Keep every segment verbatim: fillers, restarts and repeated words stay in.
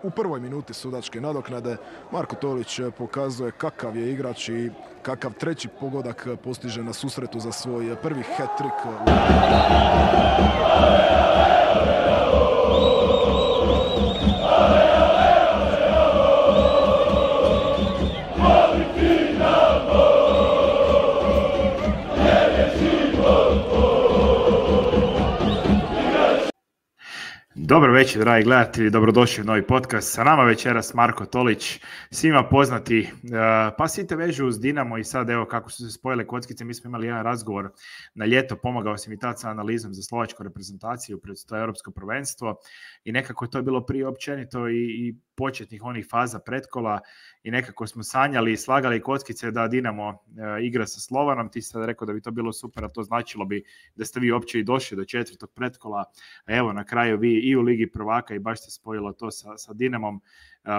U prvoj minuti sudačke nadoknade Marko Tolić pokazuje kakav je igrač i kakav treći pogodak postiže na susretu za svoj prvi hat-trick. Dobro večer, dragi gledatelji, dobrodošli u novi podcast. Sa nama večeras Marko Tolić, svima poznati, pa svi te vežu uz Dinamo i sad evo kako su se spojile kockice, mi smo imali jedan razgovor na ljeto, pomagao sam i tad sa analizom za slovačku reprezentaciju pred to europsko prvenstvo i nekako to je bilo prije općenito i, i početnih onih faza pretkola i nekako smo sanjali i slagali kockice da Dinamo e, igra sa Slovanom. Ti si sad rekao da bi to bilo super, a to značilo bi da ste vi uopće i došli do četvrtog pretkola. A evo na kraju vi i u Ligi prvaka i baš se spojilo to sa, sa Dinamom. E,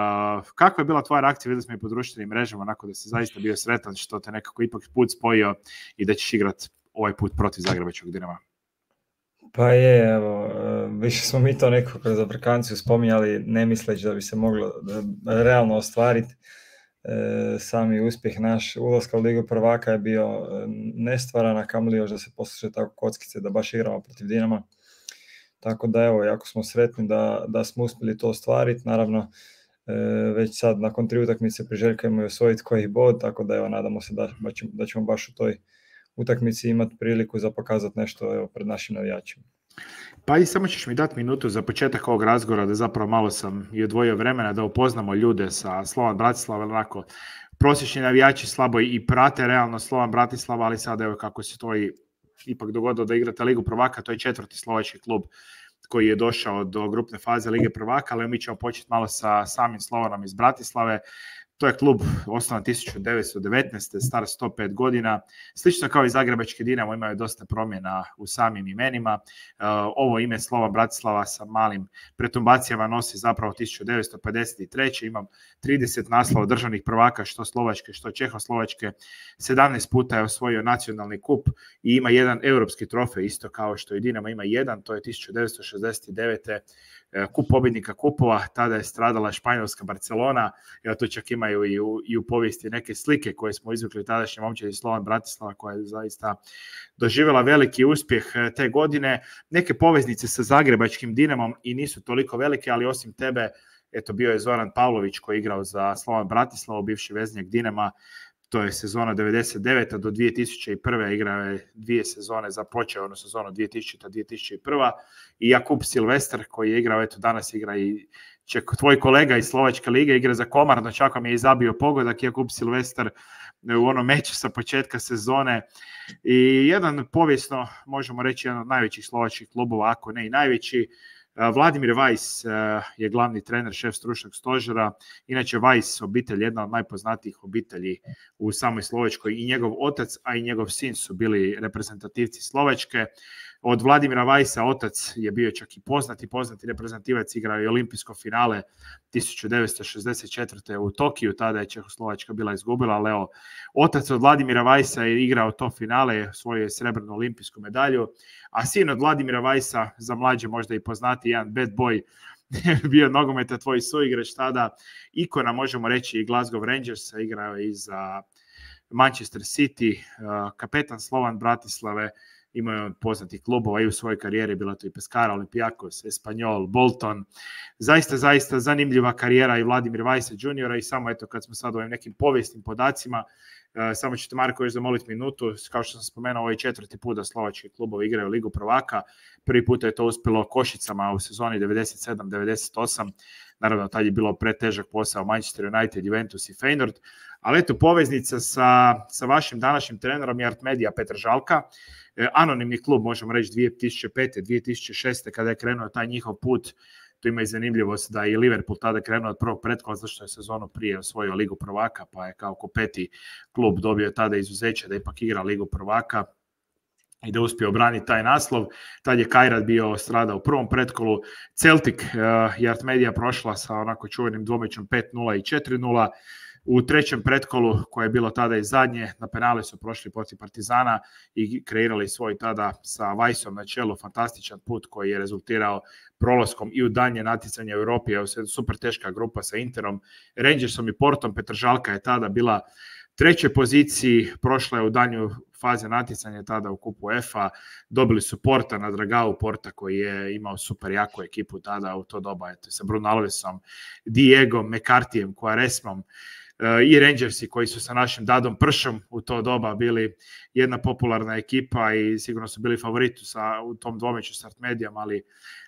kakva je bila tvoja reakcija? Vidjeli smo i po društvenim mrežama onako da si zaista bio sretan što te nekako ipak put spojio i da ćeš igrati ovaj put protiv Zagrebačkog Dinama. Pa je, evo, više smo mi to nekako kroz aplikanciju spominjali, ne misleći da bi se moglo realno ostvariti. E, sami uspjeh naš ulaska u Ligu prvaka je bio nestvaran, a kamoli još da se posluše tako kockice da baš igramo protiv Dinama. Tako da evo, jako smo sretni da, da smo uspjeli to ostvariti. Naravno, e, već sad nakon tri utakmice priželjkujemo i osvojiti koji bod, tako da evo, nadamo se da, da ćemo baš u toj utakmici imati priliku za pokazati nešto evo, pred našim navijačima. Pa i samo ćeš mi dati minutu za početak ovog razgovora da zapravo malo sam i odvojio vremena da upoznamo ljude sa Slovan Bratislava, onako prosječni navijači slabo i prate realno Slovan Bratislava, ali sad evo kako se to i ipak dogodilo da igrate Ligu prvaka, to je četvrti slovački klub koji je došao do grupne faze Lige prvaka, ali mi ćemo početi malo sa samim Slovanom iz Bratislave. To je klub osnovan tisuću devetsto devetnaeste. star sto pet godina. Slično kao i Zagrebački Dinamo imaju dosta promjena u samim imenima. Ovo ime Slovan Bratislava sa malim pretumbacijama nosi zapravo tisuću devetsto pedeset treće. Imam trideset naslova državnih prvaka, što slovačke, što čehoslovačke. sedamnaest puta je osvojio nacionalni kup i ima jedan europski trofej, isto kao što i Dinamo ima jedan, to je tisuću devetsto šezdeset devete. kup pobjednika kupova, tada je stradala Španjolska Barcelona, ja to čak imaju i u, i u povijesti neke slike koje smo izvukli tadašnje momčadi Slovan Bratislava koja je zaista doživjela veliki uspjeh te godine. Neke poveznice sa Zagrebačkim Dinamom i nisu toliko velike, ali osim tebe, eto bio je Zoran Pavlović koji je igrao za Slovan Bratislavu, bivši veznjak Dinama. To je sezona devedeset devete do dvije tisuće prve. Igrao je dvije sezone, započeo ono sezonu dvije tisućite do dvije tisuće prve. I Jakub Silvestar koji je igrao, eto danas igra i ček, tvoj kolega iz Slovačke lige, igra za Komarno, čak vam je i zabio pogodak Jakub Silvestar u onom meču sa početka sezone. I jedan povijesno, možemo reći, jedan od najvećih slovačkih klubova, ako ne i najveći. Vladimir Vajs je glavni trener, šef stručnog stožera. Inače Vajs obitelj, jedna od najpoznatijih obitelji u samoj Slovačkoj, i njegov otac, a i njegov sin su bili reprezentativci Slovačke. Od Vladimira Vajsa otac je bio čak i poznati, poznati reprezentativac, igrao je olimpijsko finale tisuću devetsto šezdeset četvrte u Tokiju, tada je Čehoslovačka bila izgubila, ali evo, otac od Vladimira Vajsa je igrao to finale, osvojio je srebrnu olimpijsku medalju, a sin od Vladimira Vajsa, za mlađe možda i poznati, jedan bad boy, bio nogometa tvoj suigrač tada, ikona možemo reći i Glasgow Rangersa, igrao je i za Manchester City, kapetan Slovan Bratislave. Imao je poznatih klubova i u svojoj karijeri, bila to i Pescara, Olympiakos, Espanyol, Bolton. Zaista, zaista zanimljiva karijera i Vladimir Vajsa juniora i samo eto kad smo sad ovim nekim povijesnim podacima, uh, samo ćete Marko još zamoliti minutu, kao što sam spomenuo, ovo je četvrti put da slovački klubovi igraju Ligu prvaka. Prvi put je to uspjelo Košicama u sezoni devedeset sedam devedeset osam. Naravno, tad je bilo pretežak posao Manchester United, Juventus i Feyenoord. Ali eto, poveznica sa, sa vašim današnjim trenerom je Artmedija Petržalka. E, anonimni klub, možemo reći, dvije tisuće pete dvije tisuće šeste kada je krenuo taj njihov put. Tu ima i zanimljivost da je Liverpool tada krenuo od prvog pretkola, zašto je sezonu prije osvojio Ligu prvaka, pa je kao ko peti klub dobio tada izuzeće da ipak igra Ligu prvaka i da uspije obraniti taj naslov. Tad je Kajrat bio strada u prvom pretkolu. Celtic uh, je Artmedija prošla sa onako čuvenim dvomećom pet nula i četiri nula. U trećem pretkolu, koje je bilo tada i zadnje, na penale su prošli protiv Partizana i kreirali svoj tada sa Vajsom na čelu fantastičan put koji je rezultirao prolaskom i u danje natjecanje u Europi. Evo se super teška grupa sa Interom, Rangersom i Portom. Petržalka je tada bila trećoj poziciji, prošla je u danju faze natjecanja tada u kupu UEFA, dobili su Porta na Dragao, Porta koji je imao super jaku ekipu tada u to doba, eto, sa Bruno Alvesom, Diegom, McCarthyjem, Quaresmom, i Rangersi koji su sa našim Dadom Pršom u to doba bili jedna popularna ekipa i sigurno su bili favoriti sa, u tom dvomeću s Artmedijom, ali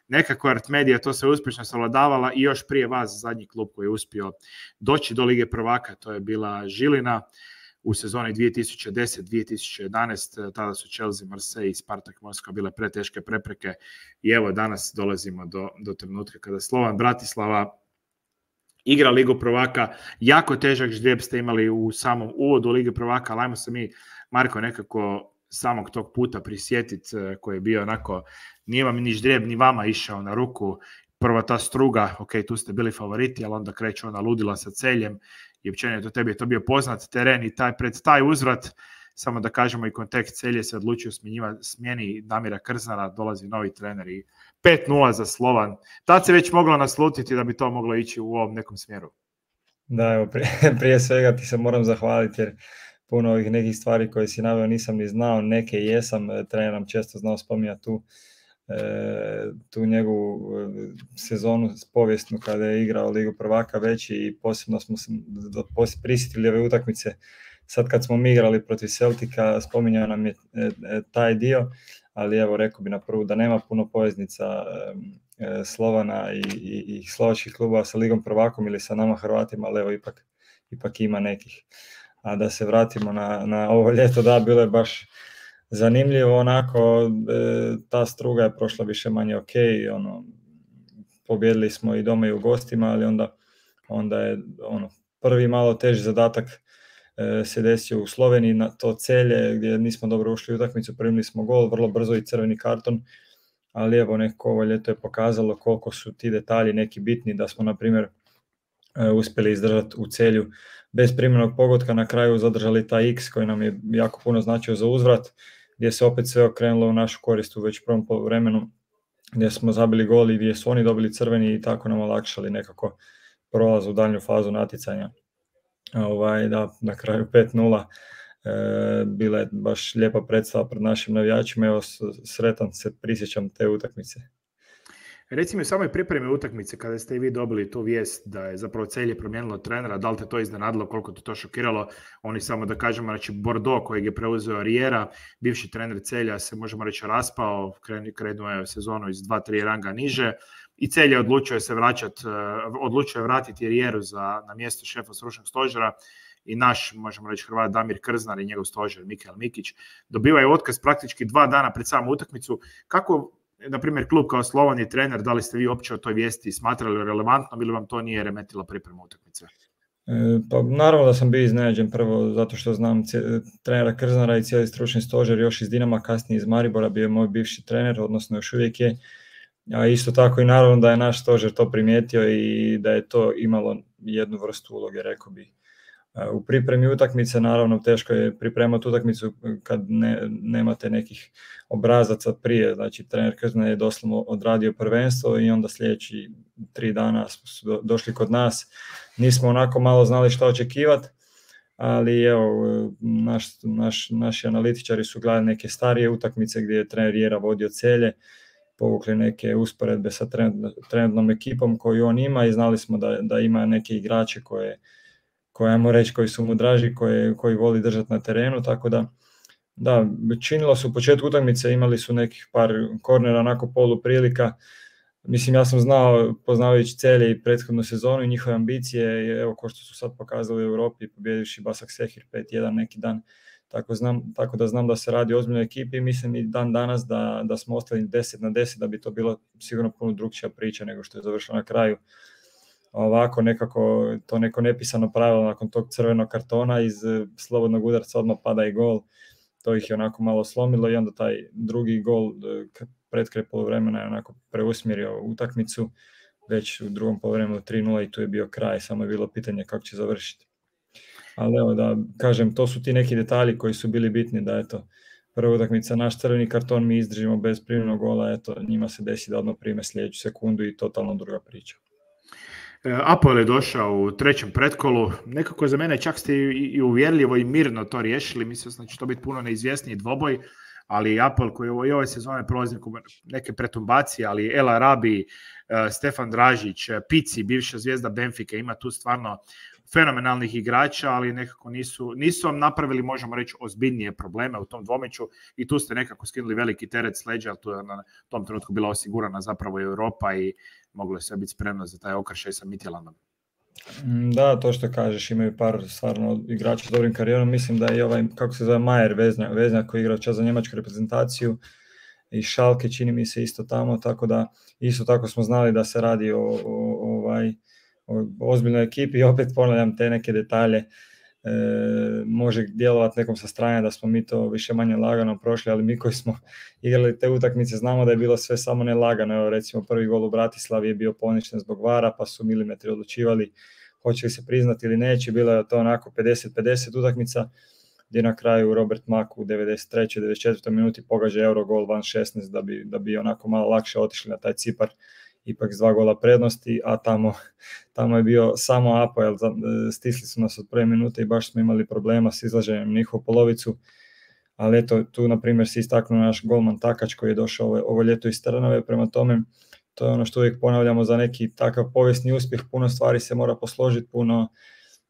nekako Artmedija to se uspješno savladavala i još prije vas zadnji klub koji je uspio doći do Lige prvaka, to je bila Žilina u sezoni dvije tisuće deset dvije tisuće jedanaest. Tada su Chelsea, Marseille i Spartak Moskva bile preteške prepreke i evo danas dolazimo do, do trenutka kada Slovan Bratislava igra Ligu prvaka. Jako težak ždrijeb ste imali u samom uvodu Lige prvaka, ali ajmo se mi, Marko, nekako samog tog puta prisjetiti koji je bio onako, nije vam ni ždrijeb ni vama išao na ruku. Prva ta Struga, ok, tu ste bili favoriti, ali onda kreće ona ludila sa Celjem i općenito tebi je to bio poznat teren i taj, pred taj uzvrat, samo da kažemo i kontekst, Celje se odlučio smjeni Damira Krznara, dolazi novi trener i pet nula za Slovan. Tad se već moglo naslutiti da bi to moglo ići u ovom nekom smjeru. Da, evo, prije, prije svega ti se moram zahvaliti jer puno ovih nekih stvari koje si naveo nisam ni znao, neke jesam, trener nam često znao spominjati tu, e, tu njegovu sezonu povijesnu kada je igrao Ligu prvaka već i posebno smo se prisjetili ove utakmice. Sad kad smo mi igrali protiv Celtica, spominjao nam je e, e, taj dio, ali evo rekao bi na prvu da nema puno poveznica e, Slovana i, i, i slovačkih klubova sa Ligom prvakom ili sa nama Hrvatima, ali evo ipak, ipak ima nekih. A da se vratimo na, na ovo ljeto, da, bilo je baš zanimljivo, onako, e, ta Struga je prošla više manje ok, ono, pobjedili smo i doma i u gostima, ali onda, onda je ono, prvi malo teži zadatak e, se desio u Sloveniji na to Celje, gdje nismo dobro ušli u utakmicu, primili smo gol, vrlo brzo i crveni karton, ali evo nekako ovo ljeto je pokazalo koliko su ti detalji neki bitni, da smo, na primjer, e, uspjeli izdržati u Celju bez primjenog pogotka, na kraju zadržali taj X koji nam je jako puno značio za uzvrat, gdje se opet sve okrenulo u našu korist u već prvom poluvremenu, gdje smo zabili gol i gdje su oni dobili crveni i tako nam olakšali nekako prolaz u daljnju fazu natjecanja. Ovaj, da, na kraju pet nula, e, bila je baš lijepa predstava pred našim navijačima, evo sretan se prisjećam te utakmice. Reci mi u samoj pripremi utakmice, kada ste i vi dobili tu vijest da je zapravo Celje promijenilo trenera, da li te to iznenadilo, koliko te to šokiralo? Oni, samo da kažemo, znači Bordeaux kojeg je preuzeo Riera, bivši trener Celja, se možemo reći raspao, krenuo je sezonu iz dva tri ranga niže i Celje odlučio je se vraćati, odlučio je vratiti Rieru za, na mjesto šefa stručnog stožera i naš, možemo reći, Hrvat Damir Krznar i njegov stožer Mikael Mikić dobivaju otkaz praktički dva dana pred samu utakmicu. Kako, na primjer, klub kao Slovan i trener, da li ste vi uopće o toj vijesti smatrali relevantno ili vam to nije remetilo pripremu utakmice? E, pa naravno da sam bio iznenađen, prvo zato što znam c- trenera Krznara i cijeli stručni stožer još iz Dinama, kasnije iz Maribora, bio je moj bivši trener, odnosno još uvijek je. A isto tako i naravno da je naš stožer to primijetio i da je to imalo jednu vrstu uloge, rekao bih. U pripremi utakmice naravno teško je pripremati utakmicu kad ne, nemate nekih obrazaca prije, znači trener Krznar je doslovno odradio prvenstvo i onda sljedeći tri dana su došli kod nas, nismo onako malo znali što očekivati, ali evo, naš, naš, naši analitičari su gledali neke starije utakmice gdje je trener Riera vodio Celje, povukli neke usporedbe sa trenutnom ekipom koju on ima i znali smo da, da ima neke igrače koje koje, ajmo reći, koji su mu draži, koje, koji voli držati na terenu, tako da, da, činilo su u početku utakmice, imali su nekih par kornera, onako polu prilika. Mislim, ja sam znao, poznavajući Celje i prethodnu sezonu i njihove ambicije, evo ko što su sad pokazali u Europi, pobjedivši Basaksehir pet jedan neki dan, tako, znam, tako da znam da se radi o ozbiljnoj ekipi i mislim i dan danas da, da smo ostali deset na deset, da bi to bilo sigurno puno drugčija priča nego što je završila na kraju. Ovako nekako to neko nepisano pravilo nakon tog crvenog kartona iz slobodnog udarca odmah pada i gol, to ih je onako malo slomilo i onda taj drugi gol pred kraj poluvremena je onako preusmjerio utakmicu, već u drugom poluvremenu tri nula i tu je bio kraj, samo je bilo pitanje kako će završiti. ali evo da kažem, to su ti neki detalji koji su bili bitni, da eto, prva utakmica, naš crveni karton, mi izdržimo bez primljenog gola, eto, njima se desi da odmah prime sljedeću sekundu i totalno druga priča. Apoel je došao u trećem pretkolu, nekako za mene čak ste i uvjerljivo i mirno to riješili, mislio sam da će to biti puno neizvjesniji dvoboj, ali Apoel koji i ove sezone prolazi neke pretumbacije, ali El Arabi, Stefan Dražić, Pici, bivša zvijezda Benfike, ima tu stvarno fenomenalnih igrača, ali nekako nisu, nisu vam napravili, možemo reći, ozbiljnije probleme u tom dvomeću i tu ste nekako skinuli veliki teret s leđa, tu je na tom trenutku bila osigurana zapravo Europa i moglo je sve biti spremno za taj okršaj sa Midtjyllandom. Da, to što kažeš, imaju par stvarno igrača s dobrim karijerom, mislim da je ovaj, kako se zove, Majer Veznjak, Veznjak koji igra čas za njemačku reprezentaciju i Schalke čini mi se isto tamo, tako da isto tako smo znali da se radi o, o, o, ovaj, o ozbiljnoj ekipi i opet ponavljam te neke detalje. E, može djelovati nekom sa strane da smo mi to više manje lagano prošli, ali mi koji smo igrali te utakmice znamo da je bilo sve samo ne lagano. Evo, recimo prvi gol u Bratislavi je bio poništen zbog vara, pa su milimetri odlučivali hoće li se priznati ili neće. Bila je to onako pedeset pedeset utakmica gdje na kraju Robert Mak u devedeset trećoj devedeset četvrtoj minuti pogađa Eurogol van šesnaest da bi, da bi onako malo lakše otišli na taj Cipar, ipak s dva gola prednosti, a tamo, tamo je bio samo Apoel, stisli su nas od prve minute i baš smo imali problema s izlaženjem njihovu polovicu, ali eto, tu na primjer se istaknuo naš golman Takač koji je došao ovo, ovo ljeto iz Trnave, prema tome to je ono što uvijek ponavljamo za neki takav povijesni uspjeh, puno stvari se mora posložiti, puno,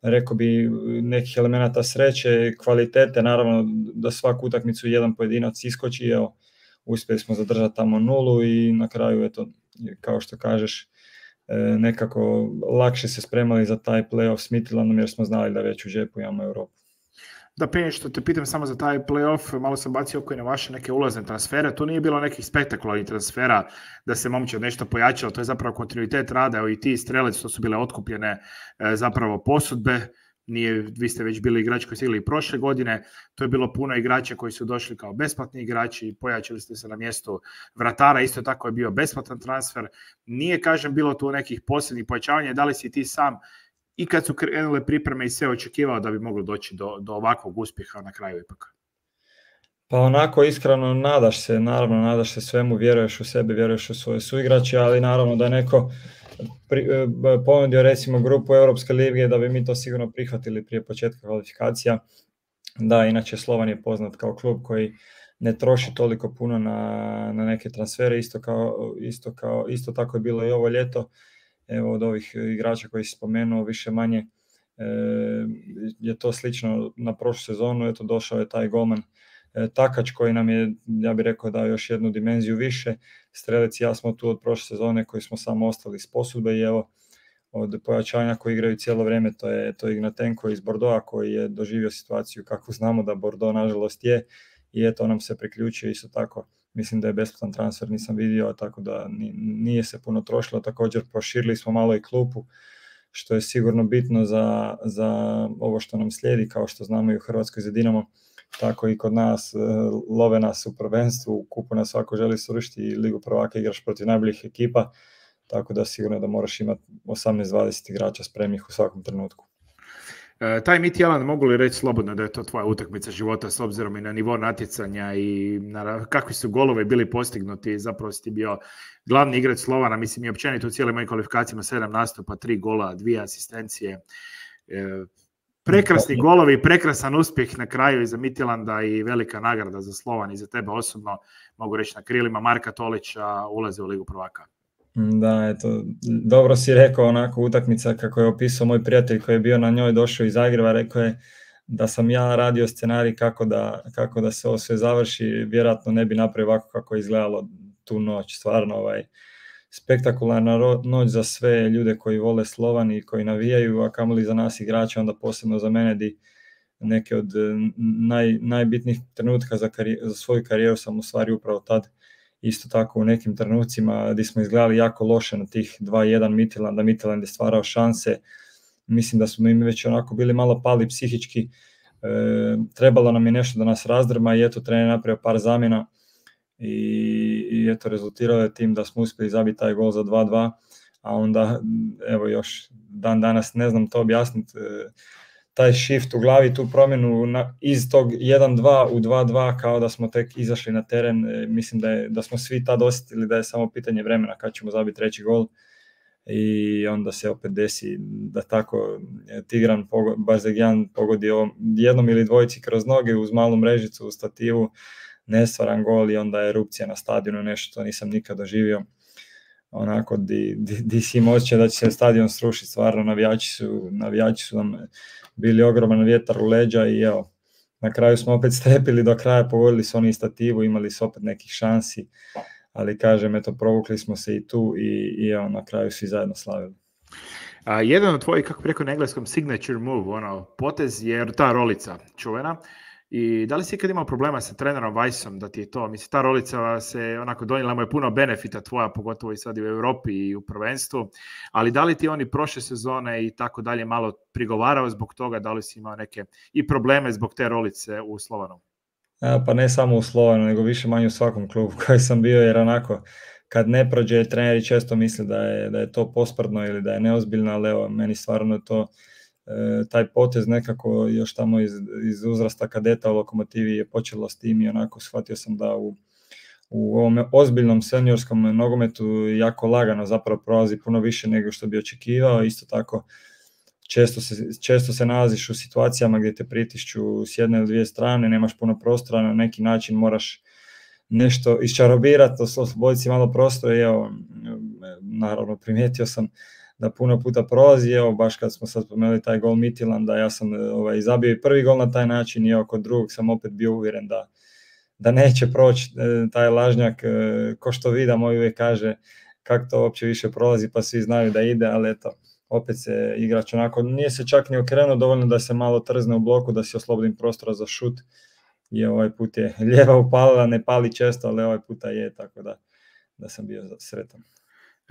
rekao bi, nekih elemenata sreće, kvalitete, naravno da svaku utakmicu jedan pojedinac iskoči, evo, uspjeli smo zadržati tamo nulu i na kraju, eto, kao što kažeš, nekako lakše se spremali za taj play-off s Midtjyllandom jer smo znali da već u džepu imamo Europu. Da, prije što te pitam samo za taj play-off, malo sam bacio oko i na vaše neke ulazne transfere, tu nije bilo nekih spektakularnih transfera da se momčad nešto pojačalo, to je zapravo kontinuitet rada, evo i ti Strelec, to su bile otkupljene zapravo posudbe, nije, vi ste već bili igrači koji su igrali prošle godine, to je bilo puno igrača koji su došli kao besplatni igrači, pojačali ste se na mjestu vratara, isto tako je bio besplatan transfer, nije, kažem, bilo tu nekih posebnih pojačavanja, da li si ti sam i kad su krenule pripreme i sve očekivao da bi moglo doći do, do ovakvog uspjeha na kraju ipak? Pa onako iskreno nadaš se, naravno nadaš se svemu, vjeruješ u sebe, vjeruješ u svoje suigrače, ali naravno da neko pri, ponudio recimo grupu Europske lige da bi mi to sigurno prihvatili prije početka kvalifikacija. Da, inače Slovan je poznat kao klub koji ne troši toliko puno na, na neke transfere, isto, kao, isto, kao, isto tako je bilo i ovo ljeto. Evo od ovih igrača koji si spomenuo, više manje e, je to slično na prošlu sezonu, eto došao je taj golman e, Takač koji nam je, ja bih rekao, dao još jednu dimenziju više. Strelec i ja smo tu od prošle sezone koji smo samo ostali s posudbe i evo od pojačanja koji igraju cijelo vrijeme, to je, to je Ignatenko iz Bordeauxa koji je doživio situaciju kako znamo da Bordeaux nažalost je i eto nam se priključio isto tako. Mislim da je besplatan transfer, nisam vidio, tako da nije se puno trošilo. Također proširili smo malo i klupu, što je sigurno bitno za, za ovo što nam slijedi, kao što znamo i u Hrvatskoj za Dinamo, tako i kod nas, love nas u prvenstvu, u kupu nas svako želi srušiti i Ligu prvaka igraš protiv najboljih ekipa, tako da sigurno da moraš imati osamnaest dvadeset igrača spremnih u svakom trenutku. E, taj Midtjylland, mogu li reći slobodno da je to tvoja utakmica života s obzirom i na nivo natjecanja i na kakvi su golove bili postignuti, zapravo si ti bio glavni igrač Slovana, mislim i općenito u cijeloj mojoj kvalifikacijama sedam nastupa, tri gola, dvije asistencije, e, prekrasni golovi, prekrasan uspjeh na kraju i za Midtjylanda i velika nagrada za Slovan i za tebe osobno, mogu reći na krilima Marka Tolića ulaze u Ligu prvaka. Da, eto, dobro si rekao, onako utakmica kako je opisao moj prijatelj koji je bio na njoj, došao iz Zagreba, rekao je da sam ja radio scenarij kako da, kako da se ovo sve završi, vjerojatno ne bi napravio ovako kako je izgledalo tu noć, stvarno ovaj, spektakularna noć za sve ljude koji vole Slovan i koji navijaju, a kamoli za nas igrače, onda posebno za mene di neke od naj, najbitnijih trenutka za, karijer, za svoju karijeru sam u stvari upravo tad. Isto tako u nekim trenucima gdje smo izgledali jako loše na tih dva jedan Midtjylanda, Midtjylland je stvarao šanse, mislim da smo im već onako bili malo pali psihički, e, trebalo nam je nešto da nas razdrma i eto trener napravio par zamjena i, i eto rezultirao je tim da smo uspjeli zabiti taj gol za dva dva, a onda evo još dan danas ne znam to objasniti, e, taj shift u glavi, tu promjenu na, iz tog jedan dva u dva dva kao da smo tek izašli na teren. E, mislim da, je, da smo svi tad osjetili da je samo pitanje vremena kad ćemo zabiti treći gol i onda se opet desi da tako Tigran Bazegjan pogodi jednom ili dvojici kroz noge uz malu mrežicu u stativu, nestvaran gol i onda erupcija na stadionu, nešto što nisam nikad doživio. Onako di, di, di si im osjećaj da će se stadion srušiti, stvarno navijači su, navijači su nam bili ogroman vjetar u leđa i evo, na kraju smo opet strepili do kraja, pogodili su oni stativu, imali su opet nekih šansi, ali kažem, eto, provukli smo se i tu i, i evo, na kraju svi zajedno slavili. A, jedan od tvojih, kako bi rekao na engleskom, signature move, ono, potez je ta rolica čuvena. I da li si ikad imao problema sa trenerom Weissom da ti je to, mislim, ta rolica se onako donijela, mu je puno benefita tvoja, pogotovo i sad i u Europi i u prvenstvu, ali da li ti oni prošle sezone i tako dalje malo prigovarao zbog toga, da li si imao neke i probleme zbog te rolice u Slovanu? A, pa ne samo u Slovanu, nego više manje u svakom klubu koji sam bio, jer onako kad ne prođe, treneri često misle da je, da je to posprdno ili da je neozbiljno, ali evo, meni stvarno to e, taj potez nekako još tamo iz, iz uzrasta kadeta u Lokomotivi je počelo s tim i onako shvatio sam da u, u ovom ozbiljnom seniorskom nogometu jako lagano zapravo prolazi puno više nego što bi očekivao. Isto tako često se, često se nalaziš u situacijama gdje te pritišću s jedne ili dvije strane, nemaš puno prostora, na neki način moraš nešto iščarobirati, osloboditi si malo prostora i evo, naravno primijetio sam da puno puta prolazi, evo baš kad smo sad spomenuli taj gol Midtjylanda, ja sam ovaj, zabio i prvi gol na taj način i evo kod drugog sam opet bio uvjeren da, da neće proći taj lažnjak, ko što vida moj uvijek kaže kako to uopće više prolazi pa svi znaju da ide, ali eto, opet se igrač onako, nije se čak ni okrenuo, dovoljno da se malo trzne u bloku, da si oslobodim prostora za šut i ovaj put je lijeva upalila, ne pali često, ali ovaj puta je, tako da, da sam bio sretan.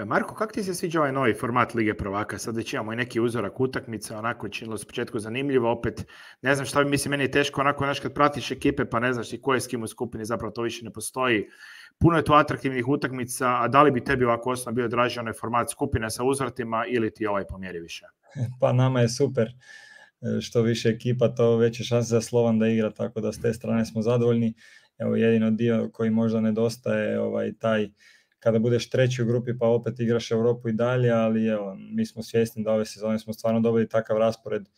Marko, kako ti se sviđa ovaj novi format Lige prvaka? Sad već imamo i neki uzorak utakmica, onako činilo se početku zanimljivo, opet ne znam šta bi, mislim, meni je teško onako, znaš, kad pratiš ekipe pa ne znaš i ko je s kim u skupini, zapravo to više ne postoji. Puno je tu atraktivnih utakmica, a da li bi tebi ovako osnovno bio draži onaj format skupine sa uzvratima ili ti ovaj pomjeri više? Pa nama je super. Što više ekipa, to veće šanse za Slovan da igra, tako da s te strane smo zadovoljni. Evo, jedino dio koji možda nedostaje ovaj taj kada budeš treći u grupi pa opet igraš Europu i dalje, ali evo, mi smo svjesni da ove sezone smo stvarno dobili takav raspored.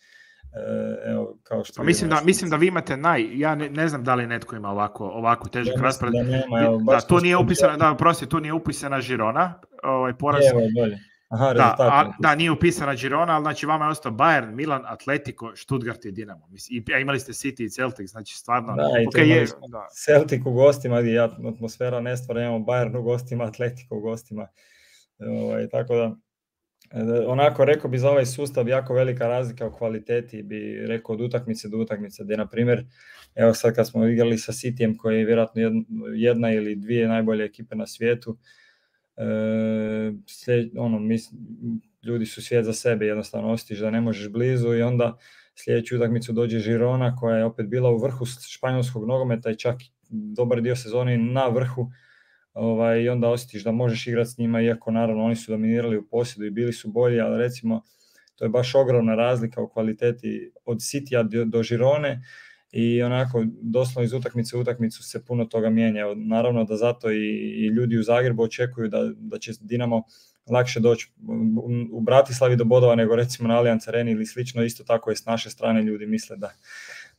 Evo, kao što mislim, da, mislim da vi imate naj, ja ne, ne znam da li netko ima ovako, ovako težak ja raspored. Da, nema, evo, da, tu nije upisana, da, prosti, tu nije upisana Girona, ovaj poraz. Evo je bolje. Aha, da, a, da, nije upisana Girona, ali znači vama je ostao Bayern, Milan, Atletico, Stuttgart i Dinamo. Mislim, i, a imali ste City i Celtic, znači stvarno... Da, i okay, je, da. Celtic u gostima, gdje atmosfera ne stvara, imamo Bayern u gostima, Atletico u gostima. Ovaj, tako da, onako rekao bi za ovaj sustav jako velika razlika u kvaliteti, bi rekao od utakmice do utakmice, gdje na primjer, evo sad kad smo igrali sa Cityjem, koji je vjerojatno jedna ili dvije najbolje ekipe na svijetu, E, slijed, ono, mis, ljudi su svijet za sebe, jednostavno osjetiš da ne možeš blizu i onda sljedeću utakmicu dođe Girona koja je opet bila u vrhu španjolskog nogometa i čak dobar dio sezone na vrhu, ovaj, i onda osjetiš da možeš igrati s njima, iako naravno oni su dominirali u posjedu i bili su bolji, ali recimo to je baš ogromna razlika u kvaliteti od Citya do, do Girone. I onako, doslovno iz utakmice u utakmicu se puno toga mijenja. Naravno da zato i, i ljudi u Zagrebu očekuju da, da će Dinamo lakše doći u Bratislavi do bodova nego recimo na Allianz Areni ili slično. Isto tako je s naše strane, ljudi misle da,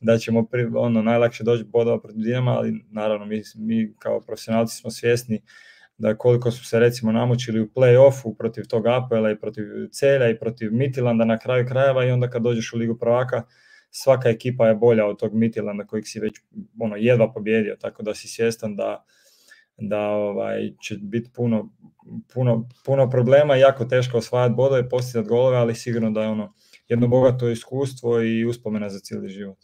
da ćemo pri, ono, najlakše doći bodova protiv Dinama, ali naravno mi, mi kao profesionalci smo svjesni da koliko su se recimo namučili u play-offu protiv tog A P L-a i protiv Celja i protiv Midtjylanda na kraju krajeva i onda kad dođeš u Ligu prvaka svaka ekipa je bolja od tog Midtjylanda kojeg si već ono, jedva pobjedio, tako da si svjestan da, da ovaj, će biti puno, puno, puno problema, jako teško osvajati bodove, postizati golove, ali sigurno da je ono jedno bogato iskustvo i uspomena za cijeli život.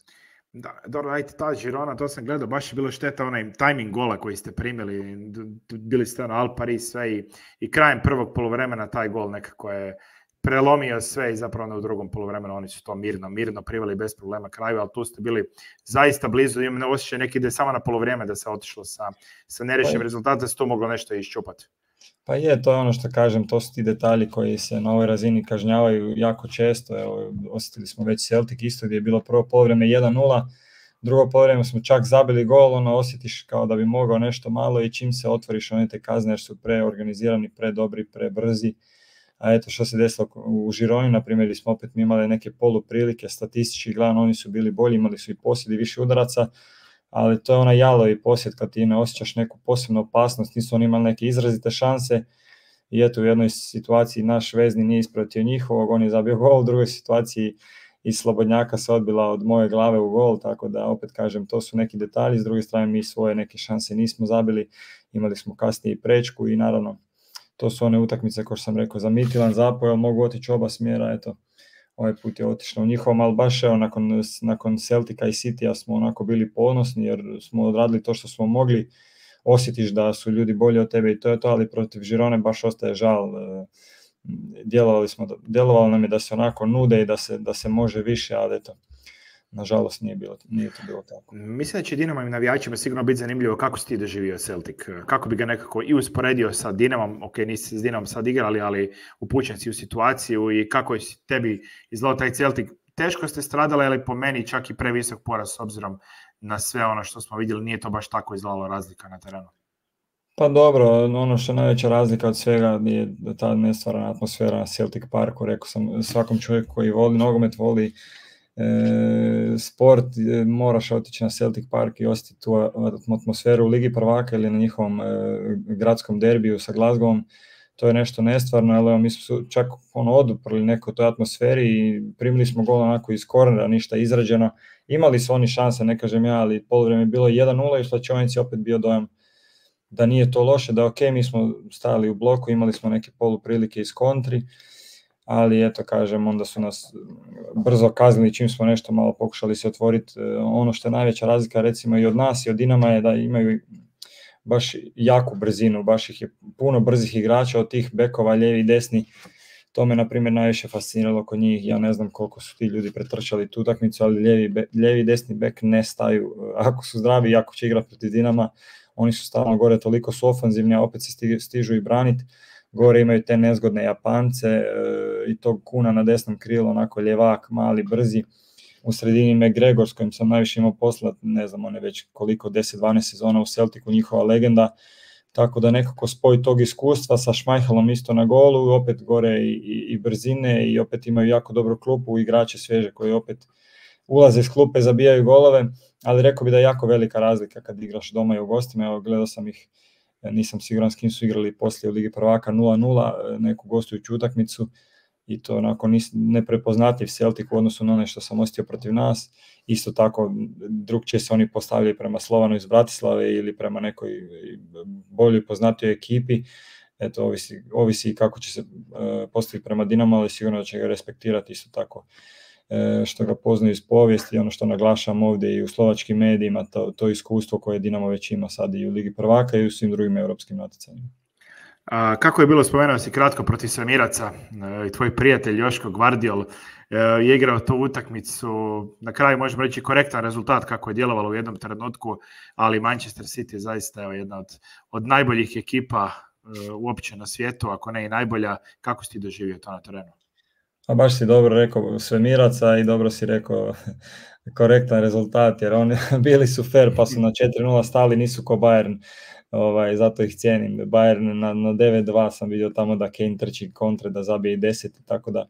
Da, dobro, ajte, ta Girona, to sam gledao, baš je bilo šteta onaj timing gola koji ste primili, bili ste ono Al Paris sve i, i krajem prvog poluvremena taj gol nekako je prelomio sve i zapravo u drugom poluvremenu oni su to mirno, mirno priveli bez problema kraju, ali tu ste bili zaista blizu, imam osjećaj neki da je samo na poluvrijeme da se otišlo sa, sa nerešenim rezultatom, da se tu moglo nešto iščupati. Pa je, to je ono što kažem, to su ti detalji koji se na ovoj razini kažnjavaju jako često. Evo, osjetili smo već Celtic isto gdje je bilo prvo poluvreme jedan nula, drugo poluvreme smo čak zabili gol, ono osjetiš kao da bi mogao nešto malo i čim se otvoriš one te kazne jer su preorganizirani, predobri, prebrzi. A eto što se desilo u Žironi, na primjer, gdje smo opet imali neke poluprilike, statistički gledano oni su bili bolji, imali su i posjed i više udaraca, ali to je onaj jalovi posjed kad ti ne osjećaš neku posebnu opasnost, nisu oni imali neke izrazite šanse i eto u jednoj situaciji naš vezni nije ispratio njihovog, on je zabio gol, u drugoj situaciji iz slobodnjaka se odbila od moje glave u gol, tako da opet kažem to su neki detalji, s druge strane mi svoje neke šanse nismo zabili, imali smo kasnije i prečku i naravno to su one utakmice kao što sam rekao za Midtjylland, Zapoel, mogu otići oba smjera, eto ovaj put je otišlo u njihovom, ali baš evo nakon, nakon Celtica i Citya smo onako bili ponosni jer smo odradili to što smo mogli, osjetiš da su ljudi bolji od tebe i to je to, ali protiv Žirone baš ostaje žal, djelovali smo, djelovalo nam je da se onako nude i da se, da se može više, ali eto, nažalost nije, bilo, nije to bilo tako. Mislim da će Dinamo i navijačima sigurno biti zanimljivo kako si ti doživio Celtic, kako bi ga nekako i usporedio sa Dinamom, ok, nisi s Dinamom sad igrali, ali upućen si u situaciju i kako je tebi izgledao taj Celtic. Teško ste stradali, ali po meni čak i previsok poraz s obzirom na sve ono što smo vidjeli, nije to baš tako izgledalo razlika na terenu. Pa dobro, ono što je najveća razlika od svega je ta nestvarana atmosfera na Celtic Parku, rekao sam svakom čovjeku koji voli nogomet, voli E, sport, e, moraš otići na Celtic Park i osjetiti tu atmosferu u Ligi prvaka ili na njihovom e, gradskom derbiju sa Glasgowom, to je nešto nestvarno, ali mi smo čak ono, oduprli neko toj atmosferi i primili smo gol onako iz kornera, ništa izrađeno, imali su oni šanse, ne kažem ja, ali poluvreme je bilo jedan nula i u slačionici opet bio dojam da nije to loše, da ok, mi smo stajali u bloku, imali smo neke poluprilike iz kontri, ali eto kažem, onda su nas brzo kaznili čim smo nešto malo pokušali se otvoriti. Ono što je najveća razlika recimo i od nas i od Dinama je da imaju baš jaku brzinu, baš ih je puno brzih igrača od tih bekova, lijevi i desni. To me na primjer najviše fasciniralo kod njih, ja ne znam koliko su ti ljudi pretrčali tu utakmicu, ali lijevi, lijevi i desni bek ne staju. Ako su zdravi i ako će igrati protiv Dinama, oni su stalno gore, toliko su ofanzivni, a opet se stižu i braniti. Gore imaju te nezgodne Japance e, i tog Kuna na desnom krilu, onako ljevak, mali, brzi. U sredini McGregor s kojim sam najviše imao posla, ne znam, on je već koliko, deset dvanaest sezona u Celticu, njihova legenda. Tako da nekako spoj tog iskustva sa Schmeichelom isto na golu, opet gore i, i, i brzine i opet imaju jako dobru klupu, igrače svježe koji opet ulaze iz klupe, zabijaju golove, ali rekao bi da je jako velika razlika kad igraš doma i u gostima. Evo, gledao sam ih, nisam siguran s kim su igrali poslije u Ligi prvaka nula nula, neku gostujuću utakmicu i to onako neprepoznatljiv Celtic u odnosu na ono što sam osjetio protiv nas. Isto tako drugčije se oni postavljaju prema Slovanu iz Bratislave ili prema nekoj boljoj poznatoj ekipi. Eto, ovisi, ovisi kako će se uh, postaviti prema Dinamo, ali sigurno da će ga respektirati isto tako. E, što ga poznaju iz povijesti, ono što naglašam ovdje i u slovačkim medijima, to, to iskustvo koje Dinamo već ima sad i u Ligi prvaka i u svim drugim europskim natjecanjima. A, kako je bilo, spomenuo si kratko protiv Svemiraca, e, tvoj prijatelj Joško Gvardiol e, je igrao tu utakmicu, na kraju možemo reći korektan rezultat kako je djelovalo u jednom trenutku, ali Manchester City je zaista evo, jedna od, od najboljih ekipa e, uopće na svijetu, ako ne i najbolja. Kako si ti doživio to na terenu? A baš si dobro rekao Svemiraca i dobro si rekao korektan rezultat, jer oni bili su fair pa su na četiri nula stali, nisu ko Bayern, ovaj, zato ih cijenim. Bayern na, na devet dva sam vidio tamo da Kane trči kontre, da zabije i deset, tako da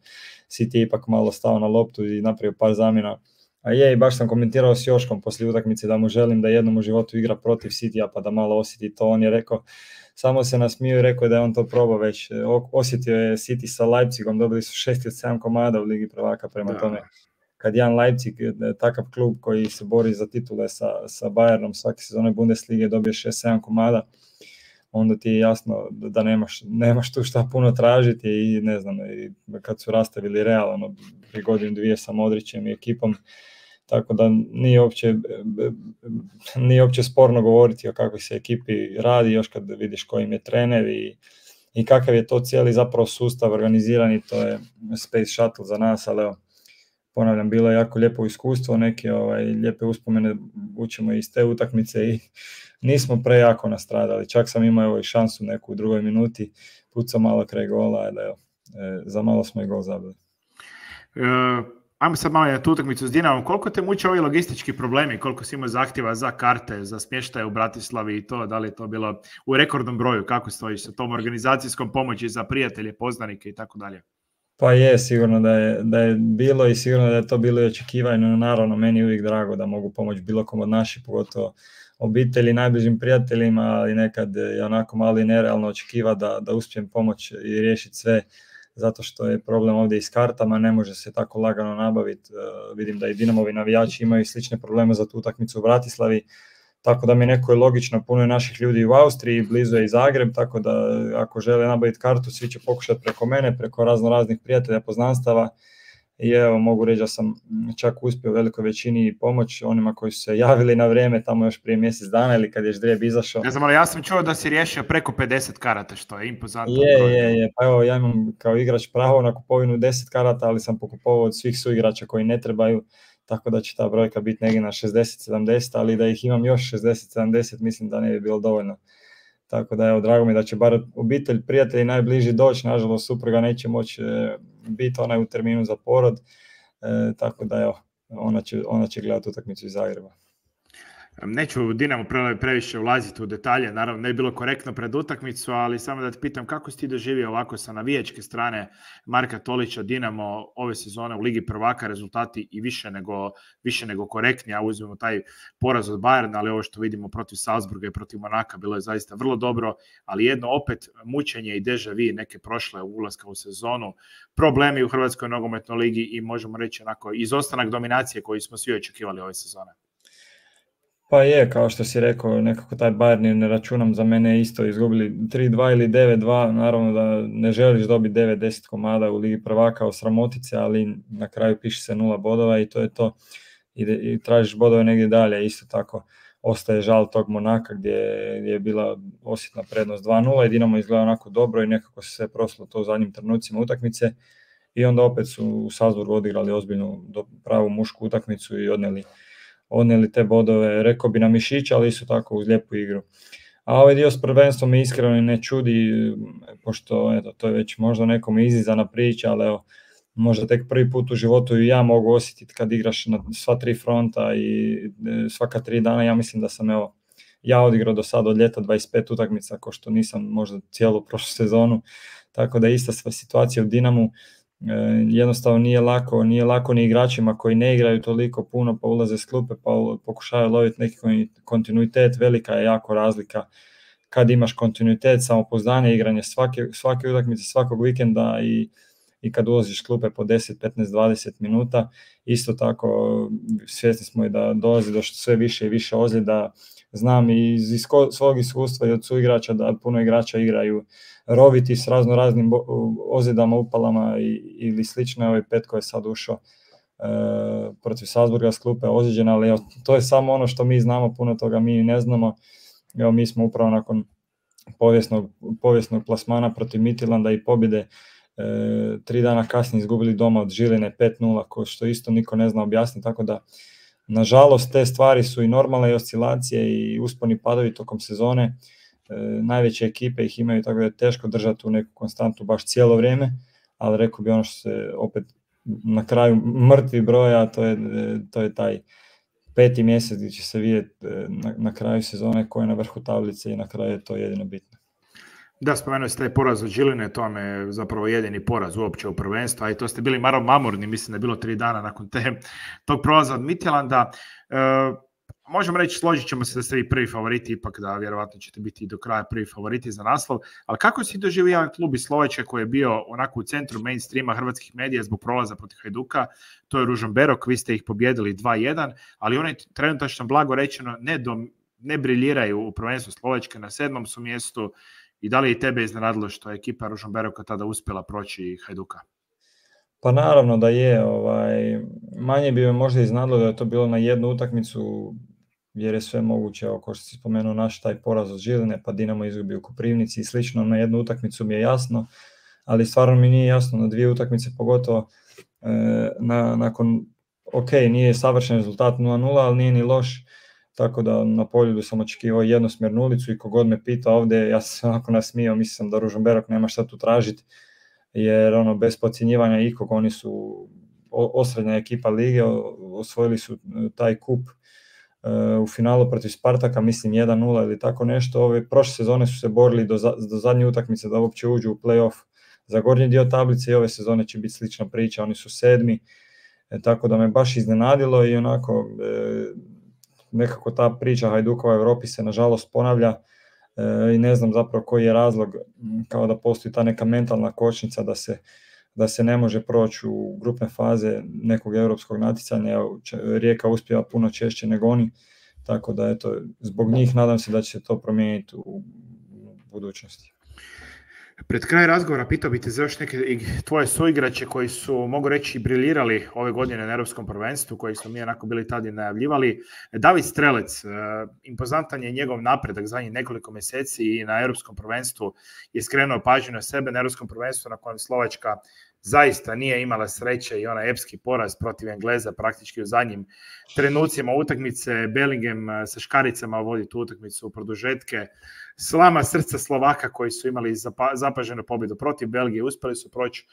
City ipak malo stao na loptu i napravio par zamjena. A je, i baš sam komentirao s Joškom poslije utakmice da mu želim da jednom u životu igra protiv Citya pa da malo osjeti to. On je rekao, samo se nasmio i rekao da je on to probao već. Osjetio je City sa Leipzigom, dobili su šest od sedam komada u Ligi prvaka, prema da. Tome. Kad jedan Leipzig, takav klub koji se bori za titule sa, sa Bayernom svake sezone Bundeslige, dobije šest sedam komada, onda ti je jasno da nemaš, nemaš tu šta puno tražiti i ne znam, i kad su rastavili Real, ono, pri godinu dvije sa Modrićem i ekipom, tako da nije uopće, nije uopće sporno govoriti o kakvoj se ekipi radi, još kad vidiš kojim je trener i, i kakav je to cijeli zapravo sustav organizirani, to je Space Shuttle za nas, ali evo, ponavljam, bilo je jako lijepo iskustvo, neke ovaj, lijepe uspomene učimo iz te utakmice i nismo prejako nastradali. Čak sam imao evo, i šansu neku u drugoj minuti, pucao malo kraj gola, da evo, e, za malo smo i gol zabili. Uh, ajmo sad malo na tu utakmicu s Dinamom. Koliko te muče ovi logistički problemi, koliko si imao zahtjeva za karte, za smještaje u Bratislavi i to, da li je to bilo u rekordnom broju, kako stojiš sa tom organizacijskom pomoći za prijatelje, poznanike i tako dalje? Pa je, sigurno da je, da je bilo i sigurno da je to bilo i očekivano. Naravno, meni je uvijek drago da mogu pomoći bilo kom od naših, pogotovo obitelji, najbližim prijateljima, ali nekad je onako malo i nerealno očekiva da, da uspijem pomoći i riješiti sve, zato što je problem ovdje i s kartama, ne može se tako lagano nabaviti. Uh, vidim da i Dinamovi navijači imaju slične probleme za tu utakmicu u Bratislavi, tako da mi neko je logično, puno je naših ljudi u Austriji, blizu je i Zagreb, tako da ako žele nabaviti kartu, svi će pokušati preko mene, preko razno raznih prijatelja, poznanstava. I evo, mogu reći da sam čak uspio u velikoj većini pomoć onima koji su se javili na vrijeme tamo još prije mjesec dana ili kad je ždrijeb izašao. Ne znam, ali ja sam čuo da si riješio preko pedeset karata, što je impozantno. Je, je, je. Pa evo, ja imam kao igrač pravo na kupovinu deset karata, ali sam pokupovao od svih suigrača koji ne trebaju, tako da će ta brojka biti negdje na šezdeset sedamdeset, ali da ih imam još šezdeset sedamdeset, mislim da ne bi bilo dovoljno. Tako da evo, drago mi da će bar obitelj, prijatelji najbliži doći, nažalost supruga neće moći e, biti onaj u terminu za porod, e, tako da evo, ona će, ona će gledati utakmicu iz Zagreba. Neću Dinamo previše ulaziti u detalje, naravno ne je bilo korektno pred utakmicu, ali samo da te pitam kako si ti doživio ovako sa navijačke strane Marka Tolića, Dinamo ove sezone u Ligi prvaka, rezultati i više nego, više nego korektni, a uzmemo taj poraz od Bayerna, ali ovo što vidimo protiv Salzburga i protiv Monaka bilo je zaista vrlo dobro, ali jedno opet mučenje i deja vu neke prošle ulaska u sezonu, problemi u Hrvatskoj nogometnoj ligi i možemo reći onako izostanak dominacije koji smo svi očekivali ove sezone. Pa je, kao što si rekao, nekako taj Bayern ne računam, za mene isto izgubili tri dva ili devet dva, naravno da ne želiš dobiti devet deset komada u Ligi prvaka, osramotice, ali na kraju piše se nula bodova i to je to. I, i tražiš bodove negdje dalje, isto tako ostaje žal tog Monaka gdje, gdje je bila osjetna prednost dva nula i Dinamo izgleda onako dobro i nekako se sve proslo to u zadnjim trenucima utakmice i onda opet su u Salzburgu odigrali ozbiljnu pravu mušku utakmicu i odnijeli odnijeli te bodove, rekao bi na mišića, ali isto tako uz lijepu igru. A ovaj dio s prvenstvom me iskreno ne čudi, pošto eto, to je već možda nekom izizana priča, ali evo, možda tek prvi put u životu i ja mogu osjetiti kad igraš na sva tri fronta i svaka tri dana. Ja mislim da sam evo, ja odigrao do sada od ljeta dvadeset pet utakmica, ko što nisam možda cijelu prošlu sezonu, tako da je ista sva situacija u Dinamu. Jednostavno nije lako, nije lako ni igračima koji ne igraju toliko puno pa ulaze s klupe pa pokušaju loviti neki kontinuitet, velika je jako razlika kad imaš kontinuitet, samopouzdanje, igranje svake, svake utakmice, svakog vikenda i, i kad ulaziš s klupe po deset, petnaest, dvadeset minuta. Isto tako svjesni smo i da dolazi do sve više i više ozljeda. Znam i iz isko, svog iskustva i od suigrača da puno igrača igraju roviti s razno raznim ozljedama, upalama i, ili slično. Ovaj Petko je sad ušao e, protiv Salzburga s klupe ozljeđen, ali evo, to je samo ono što mi znamo, puno toga mi ne znamo. Evo, mi smo upravo nakon povijesnog, povijesnog plasmana protiv Midtjylanda i pobjede e, tri dana kasnije izgubili doma od Žiline pet nula, ko što isto niko ne zna objasniti, tako da nažalost te stvari su i normalne i oscilacije i usponi padovi tokom sezone. E, najveće ekipe ih imaju, tako da je teško držati u neku konstantu baš cijelo vrijeme, ali rekao bi ono što se opet na kraju mrtvi broja, to je, to je taj peti mjesec gdje će se vidjeti na, na kraju sezone ko je na vrhu tablice i na kraju je to jedino bitno. Da, spomenuo ste taj poraz od Žiline, to vam je zapravo jedini poraz uopće u prvenstvu, a i to ste bili malo mamurni, mislim da je bilo tri dana nakon te, tog prolaza od Midtjylanda. E, možemo reći, složit ćemo se da ste vi prvi favoriti, ipak da vjerovatno ćete biti do kraja prvi favoriti za naslov, ali kako si doživio jedan klub iz Slovačke koji je bio onako u centru mainstreama hrvatskih medija zbog prolaza protiv Hajduka, to je Ružomberok, Berok, vi ste ih pobjedili dva jedan, ali oni trenutačno blago rečeno ne, dom, ne briljiraju u prvenstvu Slovačke, na sedmom su mjestu. I da li i tebe iznenadilo što je ekipa Ružomberoka tada uspjela proći Hajduka? Pa naravno da je. Ovaj, manje bi me možda iznenadilo da je to bilo na jednu utakmicu, jer je sve moguće, kao što si spomenuo, naš taj poraz od Žiline, pa Dinamo izgubi u Koprivnici i slično. Na jednu utakmicu mi je jasno, ali stvarno mi nije jasno na dvije utakmice, pogotovo na, nakon, ok, nije savršen rezultat nula nula, ali nije ni loš, tako da na Poljudu sam očekivao jednosmjernu ulicu i kogod me pita ovdje, ja sam onako nasmijao, mislim da Ružomberok nema šta tu tražiti, jer ono, bez podcjenjivanja ikog, oni su osrednja ekipa lige, osvojili su taj kup u finalu protiv Spartaka, mislim jedan nula ili tako nešto. Ove prošle sezone su se borili do, za, do zadnje utakmice da uopće uđu u play-off za gornji dio tablice i ove sezone će biti slična priča, oni su sedmi, e, tako da me baš iznenadilo i onako e, nekako ta priča Hajdukova u Europi se nažalost ponavlja e, i ne znam zapravo koji je razlog, kao da postoji ta neka mentalna kočnica da se da se ne može proći u grupne faze nekog europskog natjecanja. Rijeka uspjeva puno češće nego oni, tako da eto, zbog njih nadam se da će se to promijeniti u budućnosti. Pred kraj razgovora pitao bih te za još neke tvoje suigrače koji su, mogu reći, briljirali ove godine na Europskom prvenstvu, koji smo mi onako bili tada najavljivali. David Strelec, impozantan je njegov napredak zadnjih nekoliko mjeseci i na Europskom prvenstvu je skrenuo pažnju na sebe, na Europskom prvenstvu na kojem Slovačka zaista nije imala sreće i onaj epski poraz protiv Engleza praktički u zadnjim trenucima utakmice. Bellingham sa škaricama vodi tu utakmicu u produžetke. Slama srca Slovaka koji su imali zapaženu pobjedu protiv Belgije, uspjeli su proći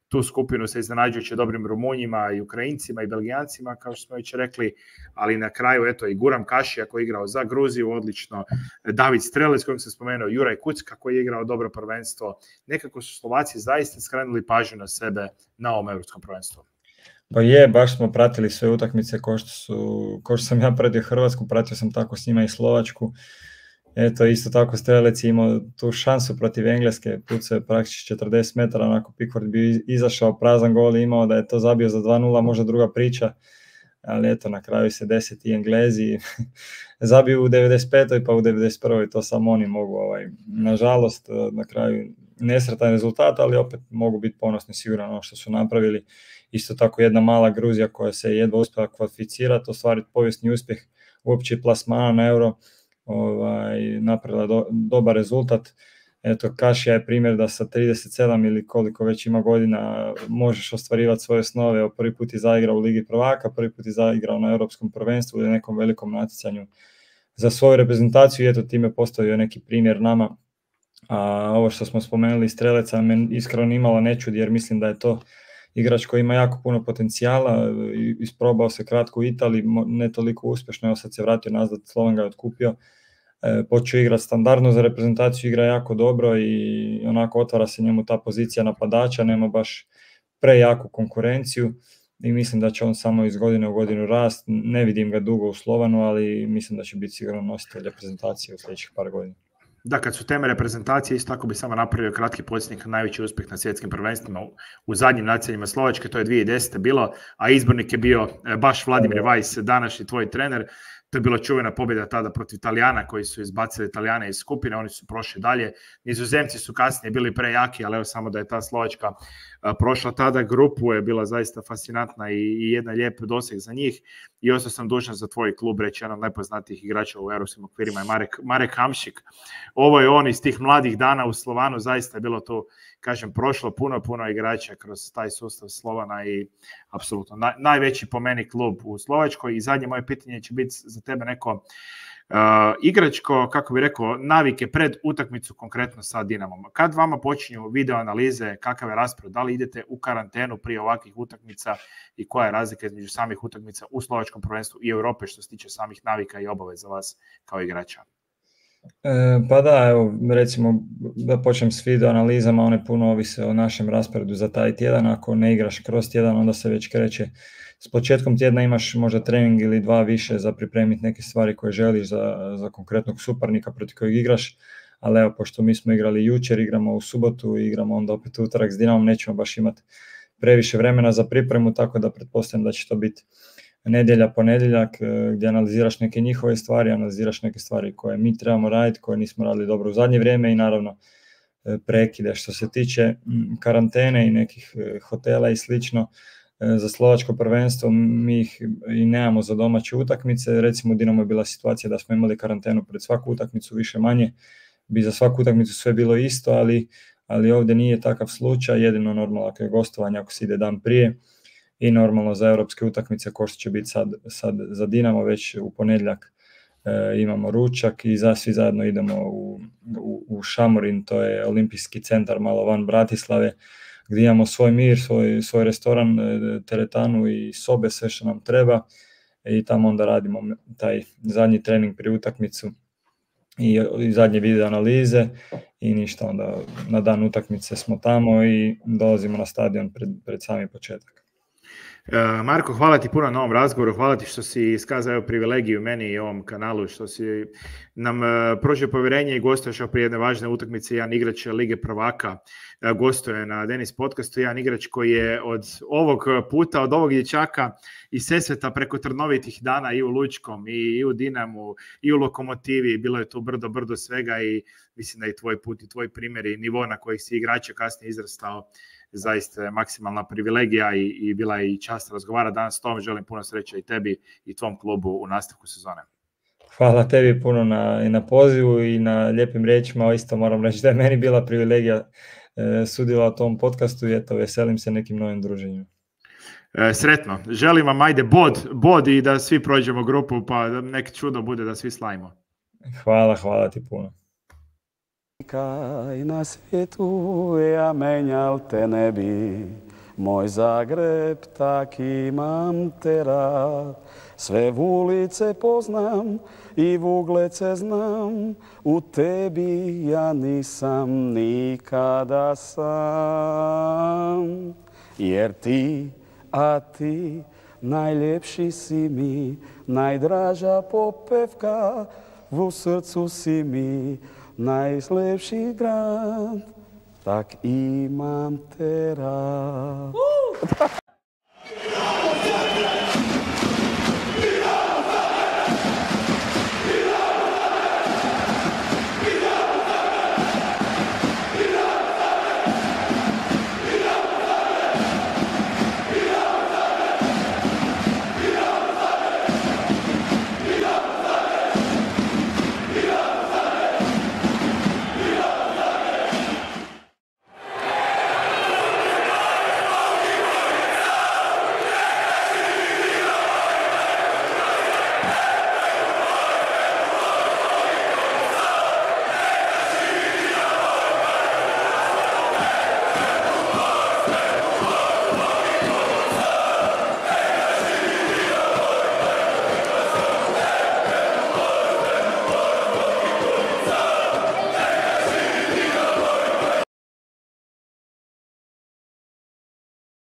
tu skupinu sa iznenađujuće dobrim Rumunjima i Ukrajincima i Belgijancima, kao što smo već rekli, ali na kraju eto i Guram Kašija koji je igrao za Gruziju odlično, David Strelec kojim sam spomenuo, Juraj Kucka koji je igrao dobro prvenstvo. Nekako su Slovaci zaista skrenuli pažnju na sebe na ovom europskom prvenstvu. Pa je, baš smo pratili sve utakmice ko što, su, ko što sam ja pratio Hrvatsku, pratio sam tako s njima i Slovačku. Eto, isto tako Strelec je imao tu šansu protiv Engleske, pucao je praktički četrdeset metara, onako Pickford bi izašao, prazan gol imao, da je to zabio za dva nula, možda druga priča, ali eto, na kraju se deset i Englezi zabiju u devedeset petoj pa u devedeset prvoj to samo oni mogu, ovaj, nažalost, na kraju nesretan rezultat, ali opet mogu biti ponosni sigurno ono što su napravili. Isto tako jedna mala Gruzija koja se jedva uspjela kvalificirati, ostvariti povijesni uspjeh uopće plasmana na Euro, ovaj, napravila do, dobar rezultat. Eto, Kašija je primjer da sa trideset sedam ili koliko već ima godina možeš ostvarivati svoje snove. Prvi put je zaigrao u Ligi prvaka, prvi put je zaigrao na Europskom prvenstvu ili nekom velikom natjecanju za svoju reprezentaciju i eto time postavio neki primjer nama. A ovo što smo spomenuli Streleca me iskreno imalo ne čudi jer mislim da je to igrač koji ima jako puno potencijala, isprobao se kratko u Italiji, ne toliko uspješno, evo sad se vratio nazad, Slovan ga je otkupio, e, počeo igrati standardno za reprezentaciju, igra jako dobro i onako otvara se njemu ta pozicija napadača, nema baš prejaku konkurenciju i mislim da će on samo iz godine u godinu rast, ne vidim ga dugo u Slovanu, ali mislim da će biti sigurno nositelj reprezentacije u sljedećih par godina. Da, kad su teme reprezentacije, isto tako bi samo napravio kratki podsjetnik na najveći uspjeh na svjetskim prvenstvima u, u zadnjim natjecanjima Slovačke, to je dvije tisuće desete bilo, a izbornik je bio baš Vladimir Vajs, današnji tvoj trener. To je bila čuvena pobjeda tada protiv Italijana koji su izbacili Italijane iz skupine, oni su prošli dalje. Nizozemci su kasnije bili prejaki, ali evo samo da je ta Slovačka prošla tada grupu, je bila zaista fascinantna i, i jedan lijep doseg za njih. I ostao sam dužan za tvoj klub reći, jedan od najpoznatijih igrača u europskim okvirima je Marek, Marek Hamšik. Ovo je on iz tih mladih dana u Slovanu, zaista je bilo tu, kažem, prošlo puno, puno igrača kroz taj sustav Slovana i apsolutno naj, najveći po meni klub u Slovačkoj. I zadnje moje pitanje će biti za tebe neko uh, igračko, kako bi rekao, navike pred utakmicu konkretno sa Dinamom. Kad vama počinju video analize, kakav je raspored, da li idete u karantenu prije ovakvih utakmica i koja je razlika između samih utakmica u slovačkom prvenstvu i Europe što se tiče samih navika i obaveza vas kao igrača? E, pa da, evo, recimo da počnem s video analizama, one puno ovise o našem rasporedu za taj tjedan. Ako ne igraš kroz tjedan, onda se već kreće. S početkom tjedna imaš možda trening ili dva više za pripremiti neke stvari koje želiš za, za konkretnog suparnika protiv kojeg igraš, ali evo, pošto mi smo igrali jučer, igramo u subotu, igramo onda opet utorak s Dinamom, nećemo baš imati previše vremena za pripremu, tako da pretpostavljam da će to biti nedjelja, ponedjeljak, gdje analiziraš neke njihove stvari, analiziraš neke stvari koje mi trebamo raditi, koje nismo radili dobro u zadnje vrijeme i naravno prekide. Što se tiče karantene i nekih hotela i slično, za slovačko prvenstvo mi ih i nemamo za domaće utakmice. Recimo u Dinamo je bila situacija da smo imali karantenu pred svaku utakmicu, više manje bi za svaku utakmicu sve bilo isto, ali, ali ovdje nije takav slučaj, jedino normalno ako je gostovanje, ako se ide dan prije. i normalno za europske utakmice ko što će biti sad, sad za Dinamo, već u ponedjeljak e, imamo ručak i za, svi zajedno idemo u, u, u Šamorin, to je olimpijski centar malo van Bratislave, gdje imamo svoj mir, svoj, svoj restoran, teretanu i sobe, sve što nam treba i tamo onda radimo taj zadnji trening prije utakmicu i, i zadnje video analize i ništa, onda na dan utakmice smo tamo i dolazimo na stadion pred, pred sami početak. Marko, hvala ti puno na ovom razgovoru, hvala ti što si iskazao privilegiju meni i ovom kanalu, što si nam pružio povjerenje i gostuješ prije jedne važne utakmice. Jedan igrač Lige prvaka gostuje na Denis podcastu, jedan igrač koji je od ovog puta, od ovog dječaka iz Sesveta preko trnovitih dana i u Lučkom, i u Dinamu, i u Lokomotivi, bilo je tu brdo, brdo svega i mislim da i tvoj put i tvoj primjer i nivo na koji si igrača kasnije izrastao zaista je maksimalna privilegija i, i bila je i čast razgovara danas s tom. Želim puno sreće i tebi i tvom klubu u nastavku sezone. Hvala tebi puno na, i na pozivu i na lijepim riječima. Isto moram reći da je meni bila privilegija e, sudjelovati u tom podcastu i eto, veselim se nekim novim druženjima. E, sretno. Želim vam ajde bod, bod i da svi prođemo grupu pa da nek čudo bude da svi slavimo. Hvala, hvala ti puno. Kaj na svijetu ja menjal te ne bi, moj Zagreb tak imam te rad. Sve ulice poznam i vuglece znam, u tebi ja nisam nikada sam. Jer ti, a ti, najljepši si mi, najdraža popevka, u srcu si mi, najlepši grad, tak imam te rad.